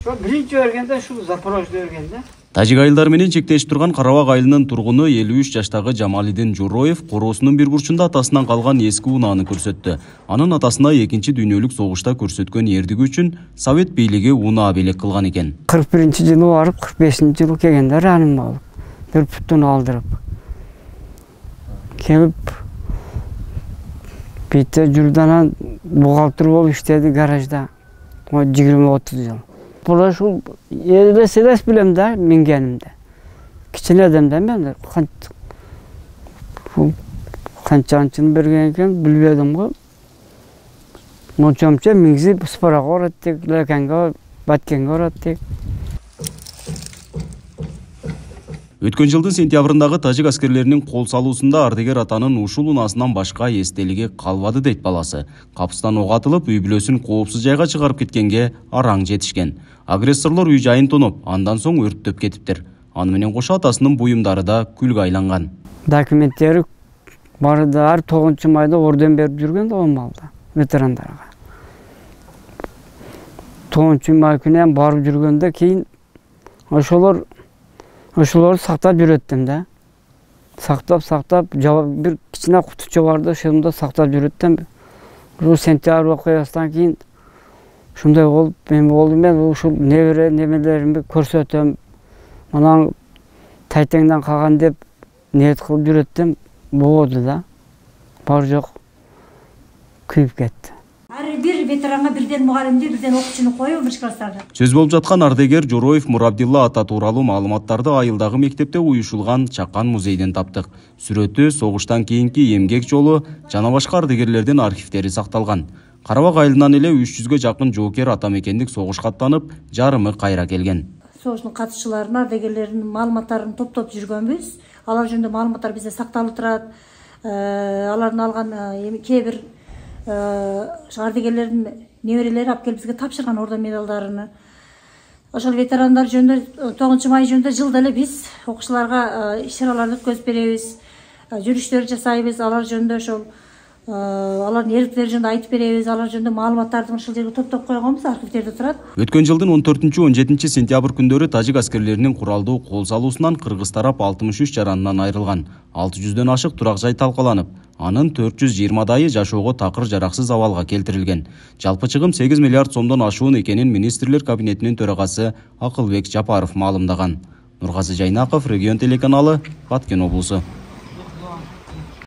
Биринчи бергенде ушул Запорожьедо бергенде. Тажик айылдары менен чектешип турган Карабак айылынын тургуну 53 жаштагы Жамалидин Журоев короосунун бир бурчунда атасынан калган эски унааны көрсөттү. Анын атасына 2-чи дүйнөлүк согушта көрсөткөн эрдиги үчүн Совет бийлиги унаа белек кылган экен. 41-жылы барып, 45-жылы келгенде раним болуп, бир путтун алдырып. Келип бите жүрданан бухгалтер болуп иштеди гаражда. 20-30 жыл. Бул ушул элес билем да мингенимде. Кичине адамда мен канчанчын берген экен билбедим го. Мочомча миңзип спорага ораттык, лекенге, баткенге ораттык. Өткөн жылдын сентябрындагы тажик аскерлеринин кол салуусунда ардегер атанын ушул унаасынан башка эстелиги калбады дейт баласы. Капыстан ок атылып, үй бүлөсүн коопсуз жайга чыгарып кеткенге араң жетишкен. Агрессорлор үй жайын тоноп, андан соң өрттөп кетиптир. Аны менен кошо атасынын буюмдары да күлгө айланган. Документтери барда 9-майда орден берип жүргөн да Омалда ветерандарга. 9-май күнү барып жүргөндө кийин ошолорду сактап жүрөттүм да. Сактап, бир кичине кутучу барды, ошондо сактап жүрөттүм. Ушул сентябрь окуясынан кийин ушундай болуп, мен ушул немелеримди көрсөтөм. Анан тайтеңден калган деп ниет кылып жүрөттүм. Болду да. Бар жок күйүп кетти. Ар бир ветеранга бирден мугалимди, бирден окуучуну коюп, биринчи класстарды. Сөз болуп жаткан ардегер Журоев Мурабдилла ата тууралуу маалыматтарды айылдагы мектепте уюшулган чакан музейден таптык. Сүрөтү, согуштан кийинки эмгек жолу жана башка ардегерлердин архивдери сакталган. Карабак айылынан эле 300гө жакын жоокер ата мекендик согушка аттанып, жарымы кайра келген. Согуштун катышчыларынын, ардегерлеринин маалыматтарын топтоп жүргөнбүз. Алар жөнүндө маалыматтар бизде сакталып турат. Алардын алган кээ бир ардегерлердин неберелери алып келип бизге тапшырган орден медалдарын. Ошол ветерандар жөнүндө 9-май жөнүндө жылда эле биз окуучуларга иш-чараларды өткөзүп беребиз. Жүрүштөр жасайбыз, алар жөнүндө ошол алардын эрдиктери жөнүндө айтып беребиз, алар жөнүндө маалыматтарды ушул жерге топтоп койгонбуз, архивдерде турат. Өткөн жылдын 14-17 сентябрь күндөрү тажик аскерлеринин куралдуу кол салуусунан кыргыз тарап 63 жаранынан айрылган. 600дөн ашык турак жай талкаланып, анын 420дайы жашоого такыр жараксыз абалга келтирилген. Жалпы чыгым 8 миллиард сомдон ашуун экенин министрлер кабинетинин төрагасы Акылбек Жапаров маалымдаган. Нургазы Жайнаков, Регион телеканалы, Баткен облусу.